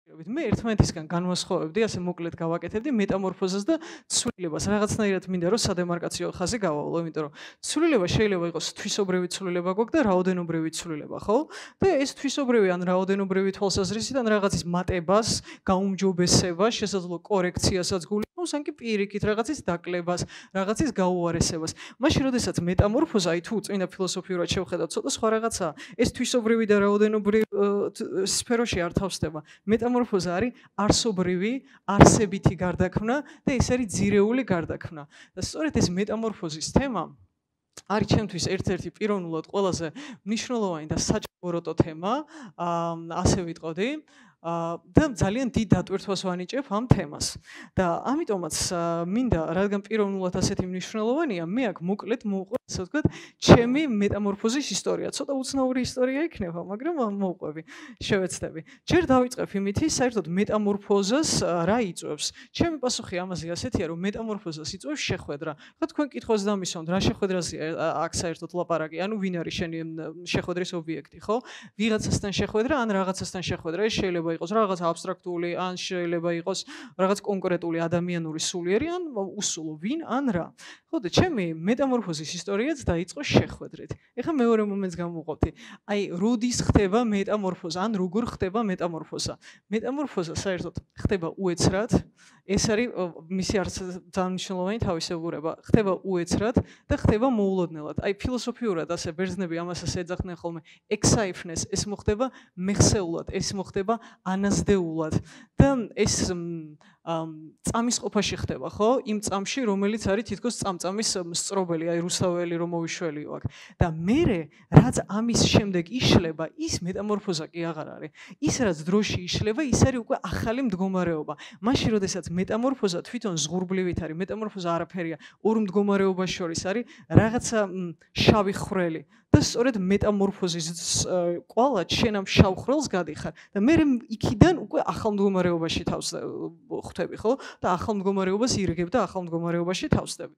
მე ერთმანეთისგან განვასხვავებდი, ასე მოკლედ გავაკეთებდი მეტამორფოზას და ცვლილებას. რაღაცნაირად მინდა რომ სადემარკაციო ხაზი გავავლო, იმიტომ რომ ცვლილება შეიძლება იყოს თვისობრივი ცვლილება გვაქვს და რაოდენობრივი ცვლილება, ხო? და ეს თვისობრივი ან რაოდენობრივი თვალსაზრისიდან რაღაცის მატებას, გაუმჯობესებას, შესაძლო კორექციასაც გულისხმობს, ან კი პირიქით რაღაცის დაკლებას, რაღაცის გაუარესებას. მაშინ, როდესაც მეტამორფოზა, აი თუ წინა ფილოსოფიურად შევხედავთ, ცოტა სხვა რაღაცაა. ეს თვისობრივი და რაოდენობრივი სფეროში არ თავსდება. მეტამორფოზა არის არსობრივი, არსებითი გარდაქმნა და ეს არის ძირეული გარდაქმნა. და სწორედ ეს მეტამორფოზის თემა არის ჩემთვის ერთ-ერთი პიროვნულად ყველაზე მნიშვნელოვანი და საჭმელო თემა, ასე ვიტყოდი. და ძალიან დიდ დატვირთვას ვანიჭებ ამ თემას. და ამიტომაც მინდა, რადგან პიროვნულად ასეთი მნიშვნელოვანია, მე აქ მოკლედ მოვყვე, ასე ვთქვათ, ჩემი მეტამორფოზის ისტორია. ცოტა უცნაური ისტორია იქნება, მაგრამ მოვყვები, შევეცდები. ჯერ დავიწყებ იმით, საერთოდ მეტამორფოზას რა იწვევს. ჩემი პასუხი ამაზე ასეთია, რომ მეტამორფოზას იწვევს შეხვედრა. ხო, თქვენ კითხვას დამისვამთ, რა შეხვედრაზეა აქ საერთოდ ლაპარაკი, ანუ ვინ არის შენი შეხვედრის ობიექტი, ხო? ვიღაცასთან შეხვედრა, ან რაღაცასთან შეხვედრა, ეს შეიძლება იყოს რაღაც აბსტრაქტული, ან შეიძლება იყოს რაღაც კონკრეტული ადამიანური სულიერი, ან უსულო ვინ, ან რა. ხო და ჩემი მეტამორფოზის ისტორიაც დაიწყო შეხვედრით. ეხლა მეორე მომენტს გამოვყოფდი. აი, როდის ხდება მეტამორფოზა, ან როგორ ხდება მეტამორფოზა? მეტამორფოზა საერთოდ ხდება უეცრად, ეს არის მისი არც ძალიან მნიშვნელოვანი თავისებურება. ხდება უეცრად და ხდება მოულოდნელად. აი, ფილოსოფიურად ასე ბერძნები ამასაც ეძახდნენ ხოლმე ექსაიფნეს, ეს მოხდება მეხსეულად, ეს მოხდება ანაზდეულად და ეს წამის ყოფაში ხდება, ხო? იმ წამში, რომელიც არის თითქოს წამწამის სწრობელი, აი რუსთაველი რომ მოვიშველიო აქ. და მერე, რაც ამის შემდეგ იშლება, ის მეტამორფოზა კი აღარ არის. ის რაც დროში იშლება, ის არის უკვე ახალი მდგომარეობა. მაშინ, როდესაც მეტამორფოზა თვითონ ზღურბლივით არის, მეტამორფოზა არაფერია, ორ მდგომარეობას შორის არის რაღაცა შავი ხვრელი. და სწორედ მეტამორფოზის კვალად შენ ამ შავ ხვრელს გადიხარ და მე იქიდან უკვე ახალ მდგომარეობაში თავს ხვდები, ხო? და ახალ მდგომარეობას ირგებ და ახალ მდგომარეობაში თავსდები.